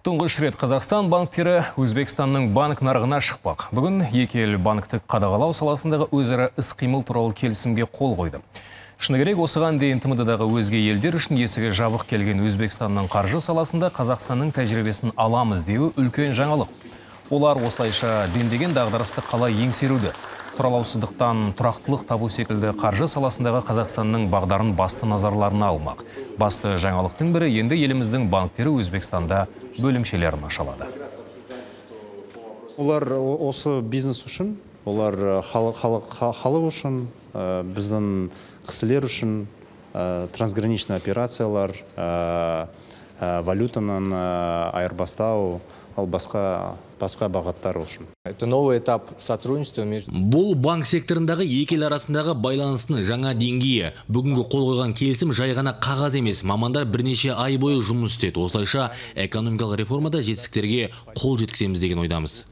Тұңғыш рет Қазақстан банктері Өзбекстанның банк нарығына шықпақ. Бүгін екі ел банктік қадағалау саласындағы өзара іс-қимыл туралы келісімге қол қойды. Шыны керек, осыған дейін ТМД-дағы өзге елдер үшін есігі жабық келген Өзбекстанның қаржы саласында Қазақстанның тәжірибесін аламыз деуі үлкен жаңалық. Олар осылайша дендеген дағдарысты қалай еңсеруді, тұралаусыздықтан тұрақтылық табу секілді қаржы саласындағы Қазақстанның бағдарын басты назарларына алмақ. Басты жаңалықтың бірі енді еліміздің банктері Өзбекстанда бөлімшелерін ашалады. Олар осы бизнес үшін, олар халық үшін, біздің кісілер үшін трансграничный операциялар, валютаның айырбастау, ал басқа бағыттар үшін. Это новый этап сотрудничества между... Бұл банк секторындағы екі ел арасындағы байланыстың жаңа деңгейі. Бүгінгі қол қойған келісім жай ғана қағаз емес. Мамандар бірнеше ай бойы жұмыс істеді. Осылайша экономикалық реформада жетістіктерге қол жеткіземіз деген ойдамыз.